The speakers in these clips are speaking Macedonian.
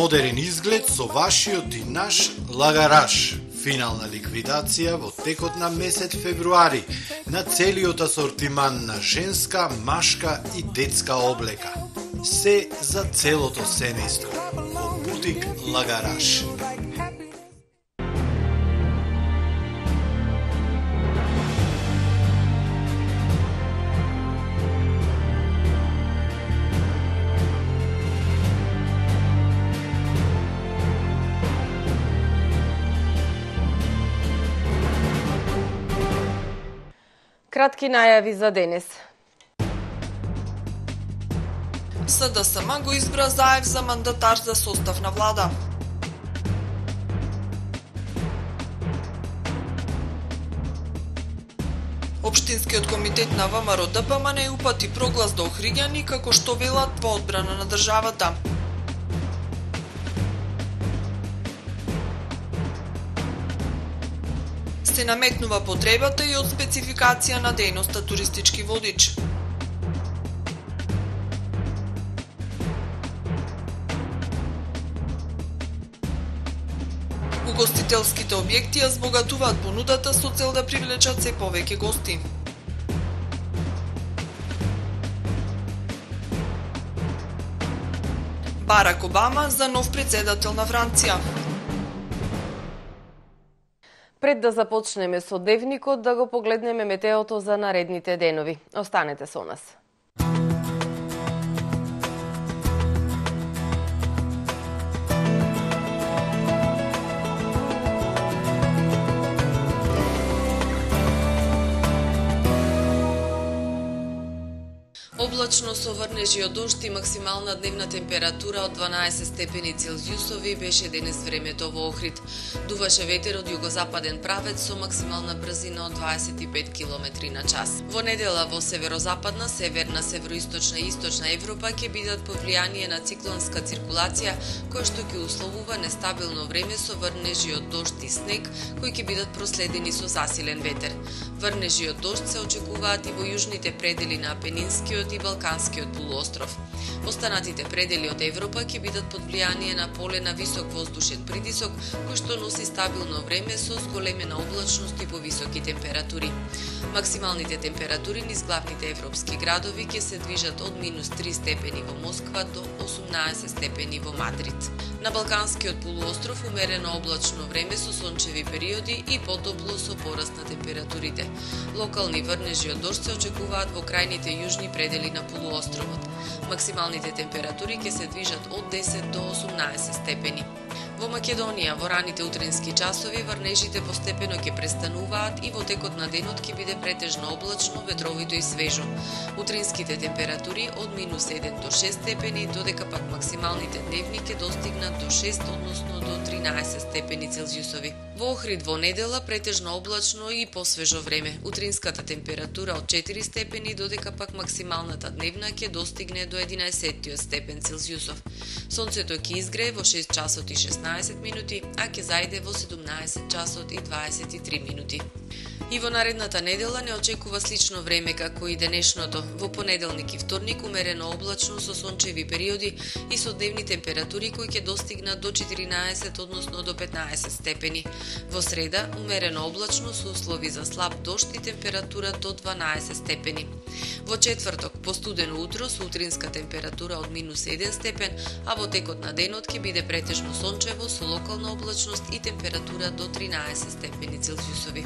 Модерен изглед со вашиот и наш лагараш. Финална ликвидација во текот на месец февруари на целиот асортиман на женска, машка и детска облека. Се за целото семејство во бутик Лагараш. Кратки најави за денес. СДСМ го избра Заев за мандатар за состав на влада. Општинскиот комитет на ВМРО ДПМН упати проглас до Охриѓани како што велат во одбрана на државата. Се наметнува потребата и од спецификација на дејноста туристички водич. Угостителските објекти ја збогатуваат понудата со цел да привлечат се повеќе гости. Барак Обама за нов председател на Франција. Пред да започнеме со дневникот, да го погледнеме метеото за наредните денови. Останете со нас. Облачно со врнежи од дожд и максимална дневна температура од 12 степени Целзиусови беше денес времето во Охрид. Дуваше ветер од југозападен правец со максимална брзина од 25 км на час. Во недела во северозападна, северна, североисточна и источна Европа ќе бидат под влијание на циклонска циркулација, која што ќе условува нестабилно време со врнежи од дожд и снег, кои ќе бидат проследени со засилен ветер. Врнежи од дожд се очекуваат и во јужните предели на Апенинскиот и Балканскиот полуостров. Останатите предели од Европа ќе бидат под влијание на поле на висок воздушен притисок, кој што носи стабилно време со зголемена облачност и повисоки температури. Максималните температури низ главните европски градови ќе се движат од -3 степени во Москва до 18 степени во Мадрид. На Балканскиот полуостров умерено облачно време со сончеви периоди и потопло со пораст на температурите. Локални врнежи од дожд се очекуваат во крајните јужни предели на полуостровот. Максималните температури ќе се движат од 10 до 18 степени. Во Македонија во раните утрински часови врнежите постепено ќе престануваат и во текот на денот ќе биде претежно облачно, ветровито и свежо. Утринските температури од -1 до 6 степени, додека пак максималните дневни ќе достигнат до 6, односно до 13 степени Целзиусови. Во Охрид во недела претежно облачно и посвежо време. Утринската температура од 4 степени, додека пак максималната дневна ќе достигне до 11 степен Целзиусов. Сонцето ќе изгрее во 6 часот и 16 минути, а ќе зајде во 17 часот и 23 минути. И во наредната недела не очекува слично време како и денешното. Во понеделник и вторник умерено облачно со сончеви периоди и со дневни температури кои ќе достигнат до 14, односно до 15 степени. Во среда умерено облачно со услови за слаб дожд и температура до 12 степени. Во четврток постудено утро со утринска температура од -1 степен, а во текот на денот ќе биде претежно сончево со локална облачност и температура до 13 степени Целзиусови.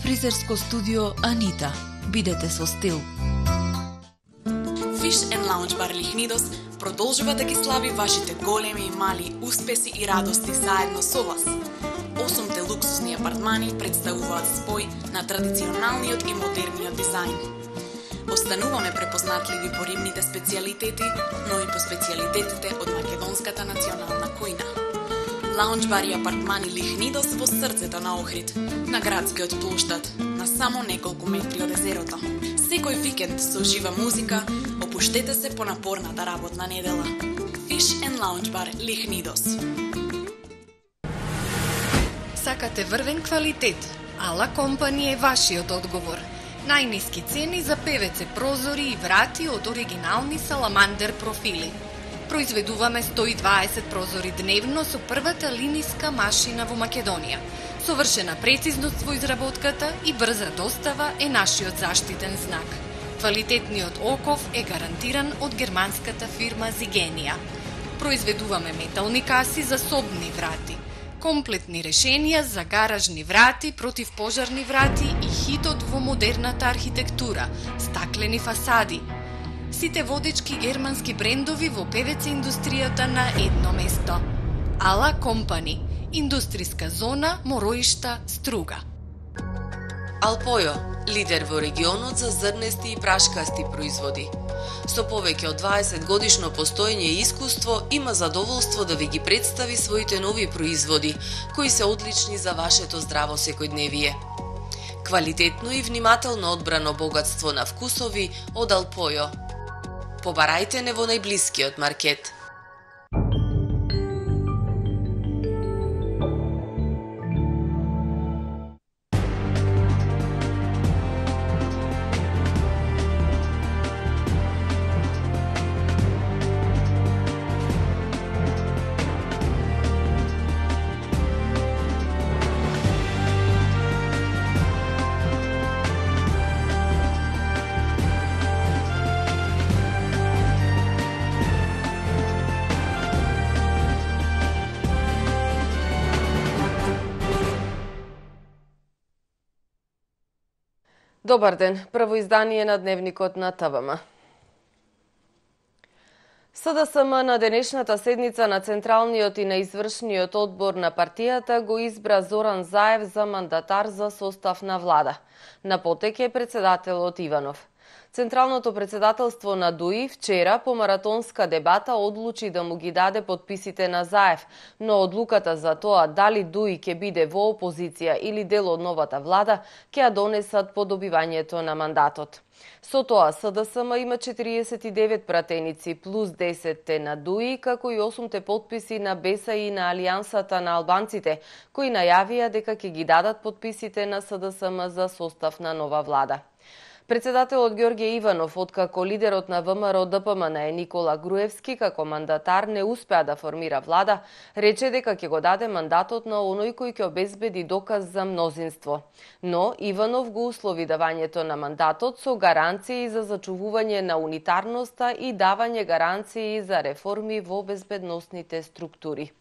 Фризерско студио Анита. Бидете со стил. Fish and Lounge Bar Лихнидос продолжува да ги слави вашите големи и мали успеси и радости заедно со вас. 8 луксузни апартмани представуваат спој на традиционалниот и модерниот дизајн. Остануваме препознатливи по рибните специјалитети, но и по специјалитетите од македонската национална кујна. Лаунџ бар и апартмани Лихнидос во срцето на Охрид, на градскиот плоштад, на само неколку метри од езерото. Секој викенд со жива музика, опуштете се по напорната работна недела. Fish and Lounge Bar Лихнидос. Сакате врвен квалитет? Ала Компани е вашиот одговор. Најниски цени за ПВЦ прозори и врати од оригинални саламандер профили. Произведуваме 120 прозори дневно со првата линиска машина во Македонија. Совршена прецизност во изработката и брза достава е нашиот заштитен знак. Квалитетниот оков е гарантиран од германската фирма Zigenia. Произведуваме метални каси за собни врати, комплетни решенија за гаражни врати, противпожарни врати и хитот во модерната архитектура, стаклени фасади. Сите водечки германски брендови во ПВЦ индустријата на едно место. Ала Компани, индустријска зона Мороишта, Струга. Алпојо, лидер во регионот за зрнести и прашкасти производи. Со повеќе од 20 годишно постоење и искуство, има задоволство да ви ги представи своите нови производи, кои се одлични за вашето здраво секојдневие. Квалитетно и внимателно одбрано богатство на вкусови од Алпојо. Побарајте не во најблискиот маркет. Добар ден, прво издание на Дневникот на ТВМ. СДСМ на денешната седница на Централниот и на извршниот одбор на партијата го избра Зоран Заев за мандатар за состав на влада. На потек е председателот Иванов. Централното председателство на ДУИ вчера по маратонска дебата одлучи да му ги даде подписите на Заев, но одлуката за тоа дали ДУИ ќе биде во опозиција или дел од новата влада ќе ја донесат по добивањето на мандатот. Со тоа СДСМ има 49 пратеници плюс 10 на ДУИ, како и 8 подписи на БЕСА и на Алијансата на албанците, кои најавија дека ќе ги дадат подписите на СДСМ за состав на нова влада. Председателот Ѓорѓе Иванов, откако лидерот на ВМРО ДПМН е Никола Груевски како мандатар не успеа да формира влада, рече дека ќе го даде мандатот на оној кој ќе обезбеди доказ за мнозинство. Но Иванов го услови давањето на мандатот со гаранции за зачувување на унитарноста и давање гаранции за реформи во безбедносните структури.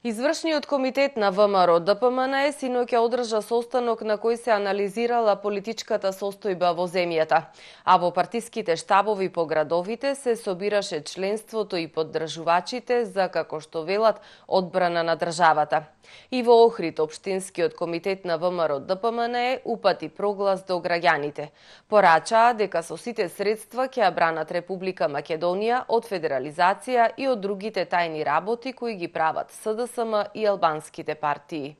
Извршниот комитет на ВМРО ДПМН синоќа одржа состанок на кој се анализирала политичката состојба во земјата, а во партиските штабови по градовите се собираше членството и поддржувачите за, како што велат, одбрана на државата. И во Охрид општинскиот комитет на ВМРО ДПМН упати проглас до граѓаните. Порачаа дека со сите средства ќе ја бранат Република Македонија од федерализација и од другите тајни работи кои ги прават СДСМ и албанските партии.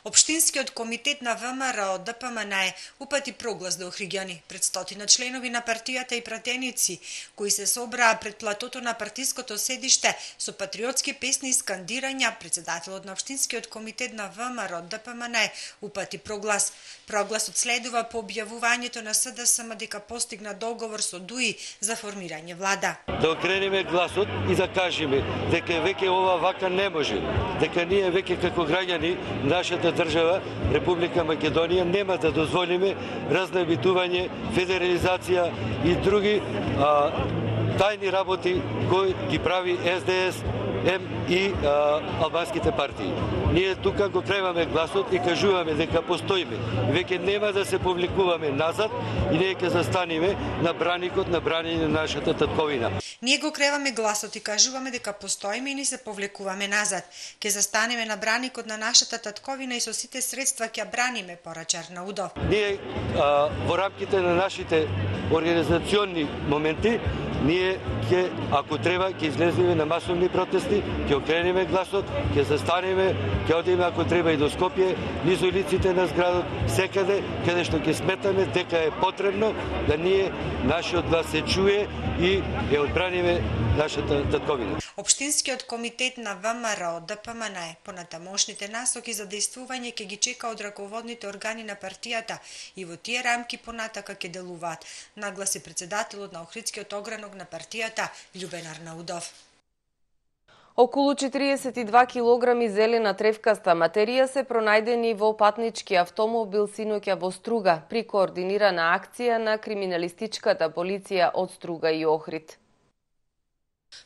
Општинскиот комитет на ВМРО ДПМН упати проглас до охриѓани пред 100 членови на партијата и пратеници, кои се собраа пред платото на партиското седиште со патриотски песни и скандирања. Председателот на Општинскиот комитет на ВМРО ДПМН упати проглас. Прогласот следува по објавувањето на СДСМ дека постигна договор со ДУИ за формирање влада. Да окренеме гласот и да кажеме дека веќе ова вака не може, дека ние веќе како граѓани нашата држава, Република Македонија, нема да дозволиме разнабитување, федерализација и други тајни работи кои ги прави СДС и албанските партии. Ние тука го креваме гласот и кажуваме дека постоиме. Веќе нема да се повлекуваме назад и ние ќе застанеме на браникот на бранење на нашата татковина. Ние го креваме гласот и кажуваме дека постоиме и не се повлекуваме назад. Ќе застанеме на браникот на нашата татковина и со сите средства ќе браниме, порача Арнаудов. Ние во рамките на нашите организационни моменти ние ако треба, ќе излеземе на масовни протести, ќе окренеме гласот, ќе застанеме, ќе одиме ако треба и до Скопје, низ улиците на градот, секаде каде што ќе сметаме дека е потребно да ние нашиот глас се чуе и ја одбраниме нашата татковина. Општинскиот комитет на ВМРО ДПМН понатамошните насоки за действување ќе ги чека од раководните органи на партијата и во тие рамки понатака ќе делуваат, нагласи председателот на Охридскиот огранок на партијата Љубен Арнаудов. Околу 42 килограми зелена тревкаста материја се пронајдени во патнички автомобил синоќа во Струга при координирана акција на криминалистичката полиција од Струга и Охрид.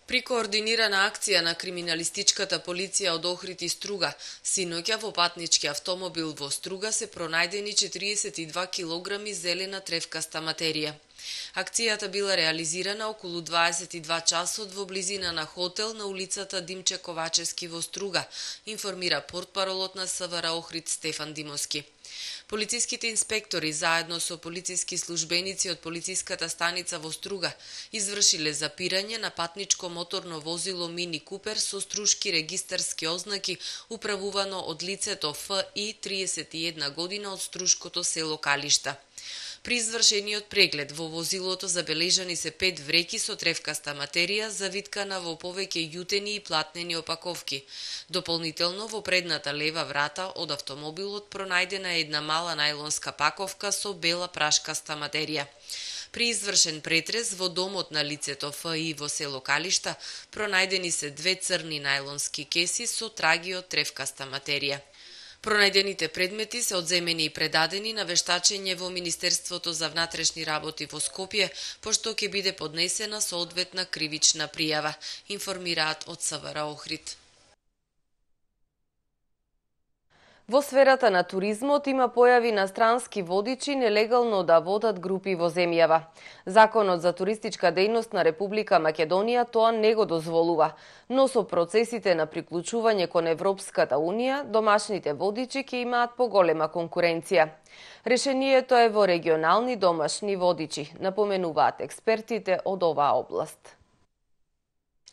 При координирана акција на криминалистичката полиција од Охрид и Струга, синоќа во патнички автомобил во Струга се пронајдени 42 килограми зелена тревкаста материја. Акцијата била реализирана околу 22 часот во близина на хотел на улицата Димче Ковачевски во Струга, информира портпаролот на СВР Охрид Стефан Димовски. Полициските инспектори заедно со полициски службеници од полициската станица во Струга извршиле запирање на патничко моторно возило Мини Купер со струшки регистарски ознаки управувано од лицето Ф.И. 31 година од струшкото село Калишта. При извршениот преглед во возилото забележани се 5 вреки со тревкаста материја завиткана во повеќе јутени и платнени опаковки. Дополнително во предната лева врата од автомобилот пронајдена една мала најлонска паковка со бела прашкаста материја. При извршен претрес во домот на лицето Ф.И. во село Калишта пронајдени се 2 црни најлонски кеси со траги од тревкаста материја. Пронајдените предмети се одземени и предадени на вештачење во Министерството за внатрешни работи во Скопје, пошто ќе биде поднесена соодветна кривична пријава, информираат од СВР Охрид. Во сферата на туризмот има појави на странски водичи нелегално да водат групи во земјава. Законот за туристичка дејност на Република Македонија тоа не го дозволува, но со процесите на приклучување кон Европската Унија, домашните водичи ќе имаат поголема конкуренција. Решението е во регионални домашни водичи, напоменуваат експертите од оваа област.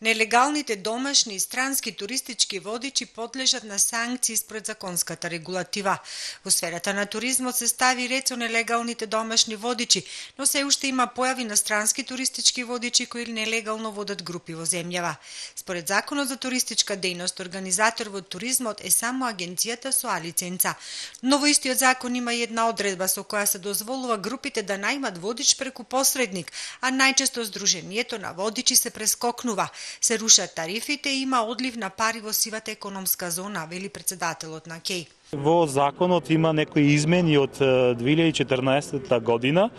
Нелегалните домашни и странски туристички водичи подлежат на санкции според законската регулатива. Во сферата на туризмот се стави ред со нелегалните домашни водичи, но се уште има појави на странски туристички водичи кои нелегално водат групи во земјава. Според Законот за туристичка дејност, организатор во туризмот е само агенцијата со А лиценца. Но во истиот закон има и една одредба со која се дозволува групите да најмат водич преку посредник, а најчесто здруженијето на водичи се прескокнува. Се рушат тарифите и има одлив на пари во сивата економска зона, вели председателот на КЕј. Во законот има некои измени од 2014 година,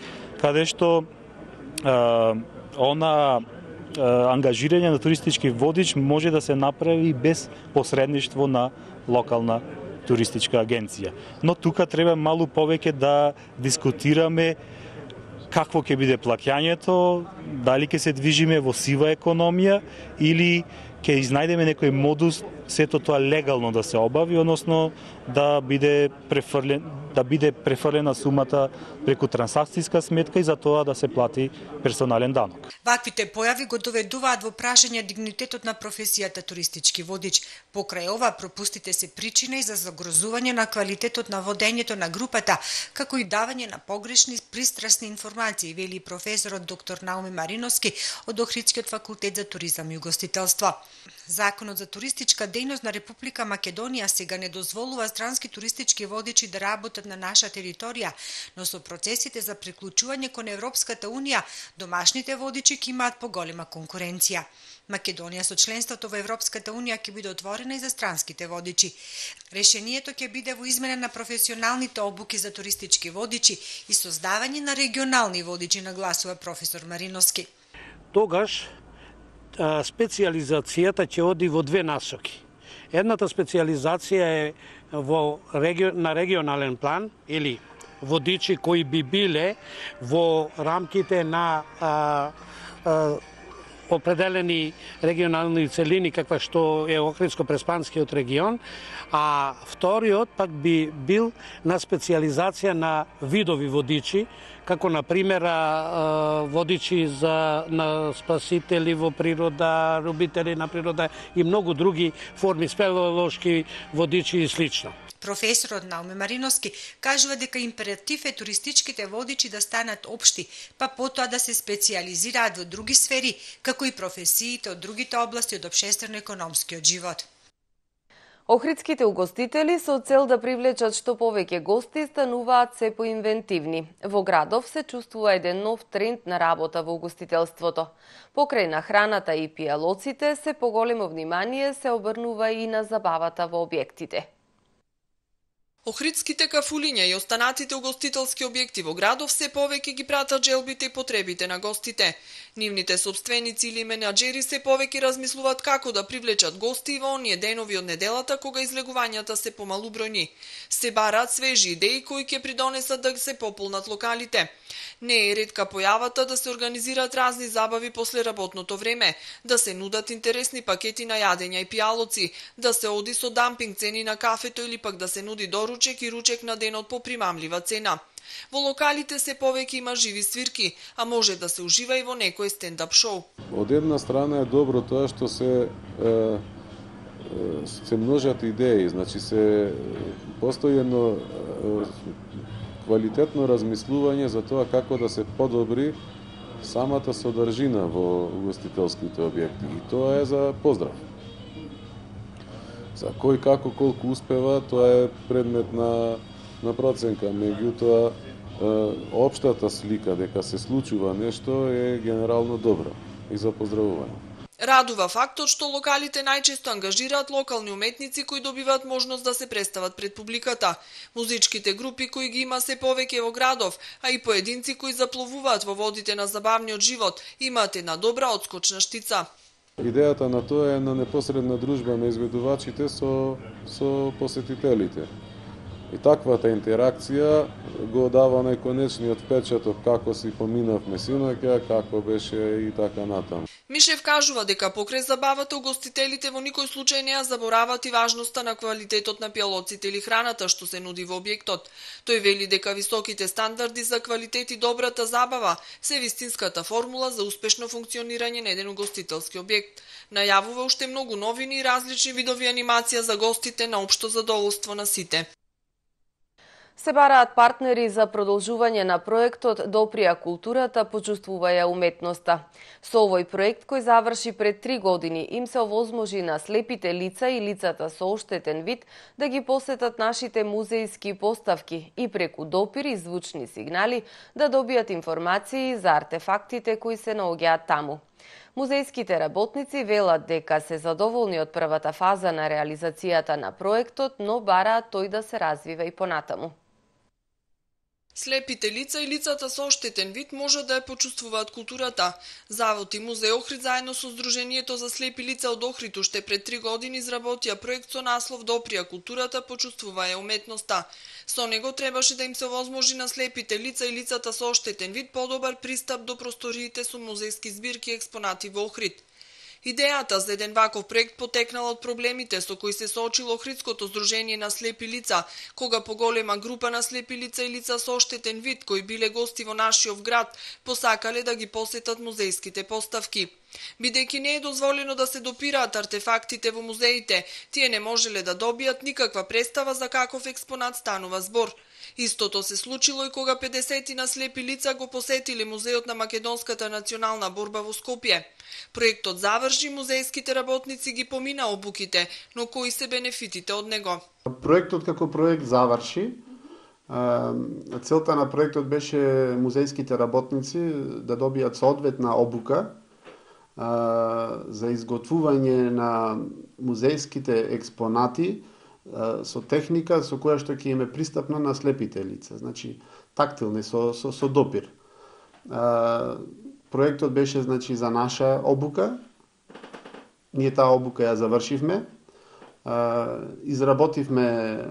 каде што ангажирање на туристички водич може да се направи без посредништво на локална туристичка агенција. Но тука треба малку повеќе да дискутираме какво ќе биде плаќањето, дали ќе се движиме во сива економија или ќе изнајдеме некој модус сето тоа легално да се обави, односно да биде префрлена сумата преку трансакцијска сметка и за тоа да се плати персонален данок. Ваквите појави го доведуваат во прашање дигнитетот на професијата туристички водич. Покрај ова пропустите се причина и за загрозување на квалитетот на водењето на групата, како и давање на погрешни пристрасни информации, вели професорот доктор Науми Мариновски од Охридскиот факултет за туризам и угостителство. Законот за туристичка дејност на Република Македонија сега не дозволува странски туристички водичи да работат на наша територија, но со процесите за приклучување кон Европската Унија, домашните водичи ќе имаат поголема конкуренција. Македонија со членството во Европската Унија ќе биде отворена и за странските водичи. Решението ќе биде во измена на професионалните обуки за туристички водичи и создавање на регионални водичи, нагласува професор Мариновски. Тогаш специјализацијата ќе оди во две насоки. Едната специјализација е на регионален план или водичи кои би биле во рамките на определени регионални целини, каква што е Охридско-Преспанскиот регион, а вториот пак би бил на специализација на видови водичи, како на пример водичи на спасители во природа, любители на природа и многу други форми, спелеолошки водичи и слично. Професорот Науме Мариновски кажува дека императив е туристичките водичи да станат општи, па потоа да се специализираат во други сфери, како и професиите од другите области од општествено-економскиот живот. Охридските угостители со цел да привлечат што повеќе гости стануваат се поинвентивни. Во градов се чувствува еден нов тренд на работа во угостителството. Покрај на храната и пијалоците се поголемо внимание се обрнува и на забавата во објектите. Охридските кафулиња и останатите угостителски објекти во градов се повеќе ги пратат желбите и потребите на гостите. Нивните сопственици или менаџери се повеќе размислуваат како да привлечат гости во оние денови од неделата кога излегувањата се помалубројни. Се бараат свежи идеи кои ќе придонесат да се пополнат локалите. Не е ретка појавата да се организираат разни забави после работното време, да се нудат интересни пакети на јадења и пијалоци, да се оди со дампинг цени на кафето или пак да се нуди доручек и ручек на денот по примамлива цена. Во локалите се повеќе има живи свирки, а може да се ужива и во некој стендап шоу. Од една страна е добро тоа што се множат идеи, значи се постои едно квалитетно размислување за тоа како да се подобри самата содржина во угостителските објекти. И тоа е за поздрав. За кој како колку успева, тоа е предмет на проценка. Меѓутоа, општата слика дека се случува нешто е генерално добра и за поздравување. Радува фактот што локалите најчесто ангажираат локални уметници кои добиваат можност да се представат пред публиката. Музичките групи кои ги има се повеќе во градов, а и поединци кои запловуваат во водите на забавниот живот, имаат една добра одскочна штица. Идејата на тоа е на непосредна дружба на изведувачите со посетителите. И таквата интеракција го дава најконечниот впечаток како си поминавме синоќа, како беше и така натаму. Мишев кажува дека покрај забавата угостителите во никој случај не ја заборават и важноста на квалитетот на пијалоците или храната што се нуди во објектот. Тој вели дека високите стандарди за квалитет и добрата забава се вистинската формула за успешно функционирање на еден угостителски објект. Најавува уште многу новини и различни видови анимација за гостите на општо задоволство на сите. Се бараат партнери за продолжување на проектот Доприја културата, почувствуваја уметноста. Со овој проект кој заврши пред 3 години им се овозможи на слепите лица и лицата со оштетен вид да ги посетат нашите музејски поставки и преку допир и звучни сигнали да добијат информации за артефактите кои се наоѓаат таму. Музејските работници велат дека се задоволни од првата фаза на реализацијата на проектот, но бараат тој да се развива и понатаму. Слепите лица и лицата со оштетен вид можат да ја почувствуваат културата. Завод и музеј Охрид заедно со Сдруженијето за слепи лица од Охрид уште пред 3 години изработија проект со наслов Доприја културата, почувствуваја уметноста. Со него требаше да им се овозможи на слепите лица и лицата со оштетен вид подобар пристап до просториите со музејски збирки и експонати во Охрид. Идејата за еден ваков проект потекнала од проблемите со кои се соочило Охридското здружение на слепи лица, кога поголема група на слепи лица и лица со оштетен вид кои биле гости во нашиот град посакале да ги посетат музејските поставки. Бидејќи не е дозволено да се допираат артефактите во музеите, тие не можеле да добијат никаква представа за каков експонат станува збор. Истото се случило и кога 50 на слепи лица го посетиле музејот на Македонската национална борба во Скопје. Проектот заврши, музејските работници ги помина обуките, но кои се бенефитите од него? Проектот како проект заврши. Целта на проектот беше музејските работници да добијат соодветна обука за изготвување на музејските експонати со техника со која што ќе им е пристапна на слепите лица, значи тактилни со допир. Проектот беше значи за наша обука. Ние таа обука ја завршивме. Изработивме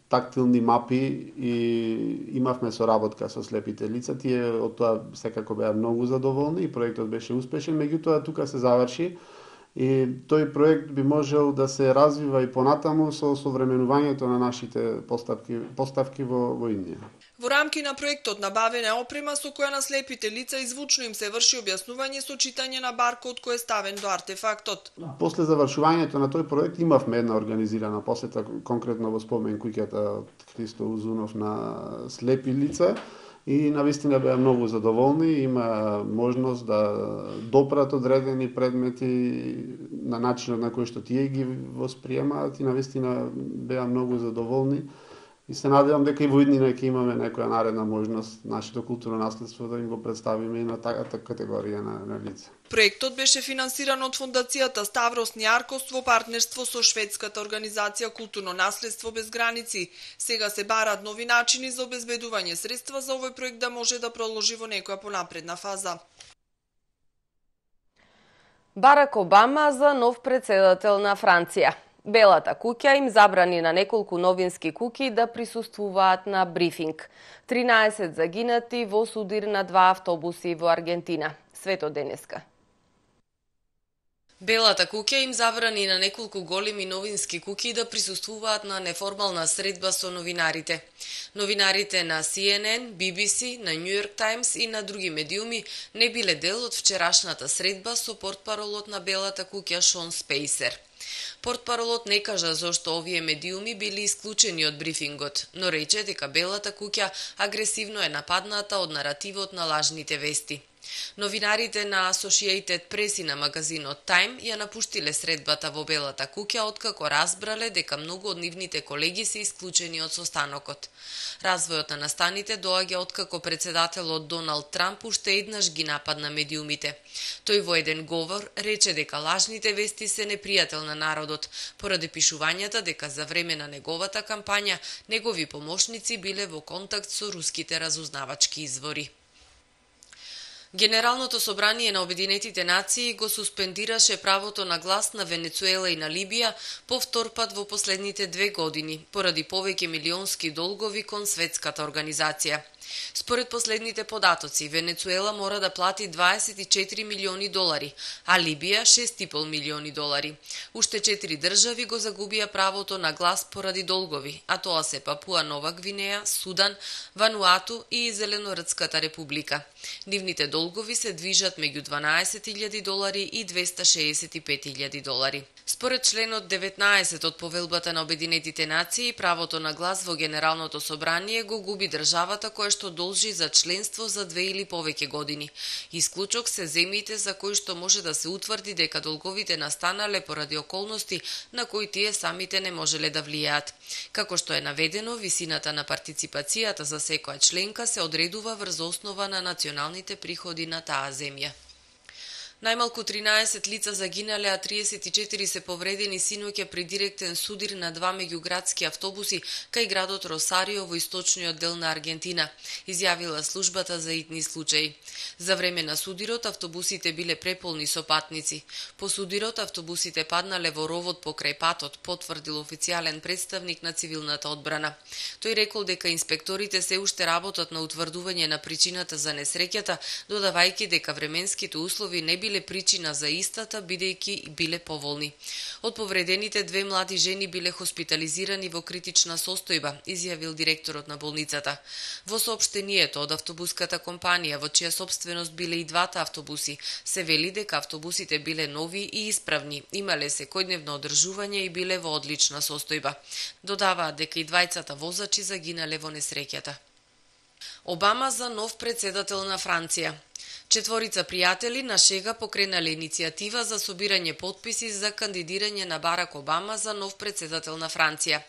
тактилни мапи и имавме соработка со слепите лица. Тие од тоа секако беа многу задоволни и проектот беше успешен, меѓутоа тука се заврши и тој проект би можел да се развива и понатаму со современувањето на нашите поставки во Индија. Во рамки на проектот набавена опрема со која на слепите лица извучно им се врши објаснување со читање на баркод кој е ставен до артефактот. После завршувањето на тој проект имавме една организирана посета конкретно во спомен куќата од Христо Узунов на слепи лица и навистина беа многу задоволни, има можност да допрат одредени предмети на начинот на кој што тие ги восприемаат и навистина беа многу задоволни. И се надевам дека и во иднина ќе имаме некоја наредна можност нашето културно наследство да им го представиме и на таката категорија на лица. Проектот беше финансиран од Фондацијата Ставрос Њаркос во партнерство со шведската организација Културно наследство без граници. Сега се бараат нови начини за обезбедување средства за овој проект да може да продолжи во некоја понапредна фаза. Барак Обама за нов председател на Франција. Белата куќа им забрани на неколку новински куќи да присуствуваат на брифинг. 13 загинати во судир на 2 автобуси во Аргентина. Свето денеска. Белата куќа им забрани на неколку големи новински куќи да присуствуваат на неформална средба со новинарите. Новинарите на CNN, BBC, на New York Times и на други медиуми не биле дел од вчерашната средба со портпаролот на Белата куќа Шон Спейсер. Портпаролот не кажа зошто овие медиуми били исклучени од брифингот, но рече дека Белата куќа агресивно е нападната од наративот на лажните вести. Новинарите на Associated Press и на магазинот Time ја напуштиле средбата во Белата куќа откако разбрале дека многу од нивните колеги се исклучени од состанокот. Развојот на настаните доаѓа откако председателот Доналд Трамп уште еднаш ги нападна медиумите. Тој во еден говор рече дека лажните вести се непријател на народот, поради пишувањата дека за време на неговата кампања негови помошници биле во контакт со руските разузнавачки извори. Генералното собрание на Обединетите нации го суспендираше правото на глас на Венецуела и на Либија по втор пат во последните 2 години, поради повеќе милионски долгови кон светската организација. Според последните податоци, Венецуела мора да плати $24 милиони, а Либија $6,5 милиони. Уште 4 држави го загубија правото на глас поради долгови, а тоа се Папуа Нова Гвинеја, Судан, Вануату и Зеленородската република. Нивните долгови се движат меѓу $12,000 и $265,000. Според членот 19 од Повелбата на Обединетите нации, правото на глас во Генералното собрание го губи државата која што должи за членство за 2 или повеќе години. Исклучок се земјите за кои што може да се утврди дека долговите настанале поради околности на кои тие самите не можеле да влијаат. Како што е наведено, висината на партиципацијата за секоја членка се одредува врз основа на националните приходи на таа земја. Најмалку 13 лица загинале, а 34 се повредени синоќа при директен судир на 2 меѓуградски автобуси кај градот Росарио во источниот дел на Аргентина, изјавила службата за итни случаи. За време на судирот автобусите биле преполни со патници. По судирот автобусите паднале во ровот покрај патот, потврдил официјален представник на цивилната одбрана. Тој рекол дека инспекторите се уште работат на утврдување на причината за несреќата, додавајќи дека временските услови не биле причина за истата, бидејќи биле поволни. Од повредените 2 млади жени биле хоспитализирани во критична состојба, изјавил директорот на болницата. Во соопштението од автобуската компанија, во чија собственост биле и 2 автобуси, се вели дека автобусите биле нови и исправни, имале секојдневно одржување и биле во одлична состојба. Додаваат дека и 2 возачи загинале во несреќата. Обама за нов председател на Франција. 4 пријатели на шега покренале иницијатива за собирање потписи за кандидирање на Барак Обама за нов председател на Франција.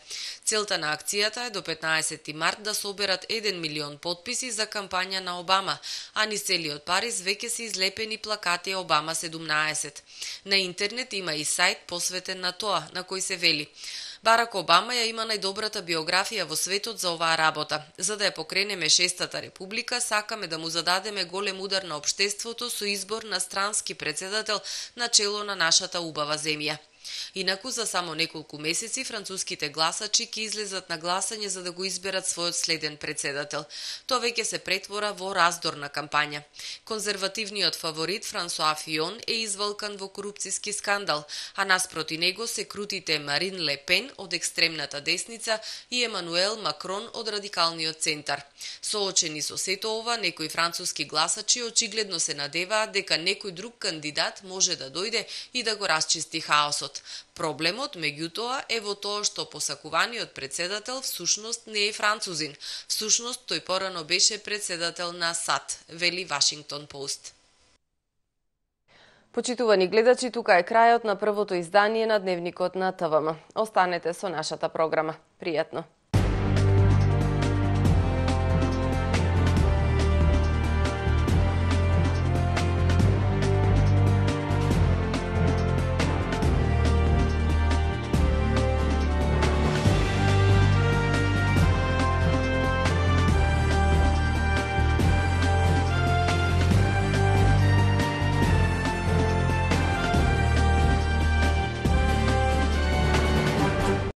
Целта на акцијата е до 15 март да соберат 1 милион потписи за кампања на Обама, а низ целиот Париз веќе се излепени плакати Обама 17. На интернет има и сајт посветен на тоа, на кој се вели: Барак Обама ја има најдобрата биографија во светот за оваа работа. За да ја покренеме 6-та република, сакаме да му зададеме голем удар на општеството со избор на странски председател на чело на нашата убава земја. Инаку за само неколку месеци француските гласачи ќе излезат на гласање за да го изберат својот следен председател. Тоа веќе се претвора во раздорна кампања. Конзервативниот фаворит Франсуа Фион е извалкан во корупцијски скандал, а наспроти него се крутите Марин Ле Пен од екстремната десница и Емануел Макрон од радикалниот центар. Соочени со сето ова, некои француски гласачи очигледно се надеваат дека некој друг кандидат може да дојде и да го расчисти хаосот. Проблемот, меѓутоа, е во тоа што посакуваниот председател всушност не е французин. Всушност тој порано беше председател на САД, вели Вашингтон Пост. Почитувани гледачи, тука е крајот на првото издание на Дневникот на ТВМ. Останете со нашата програма. Пријатно!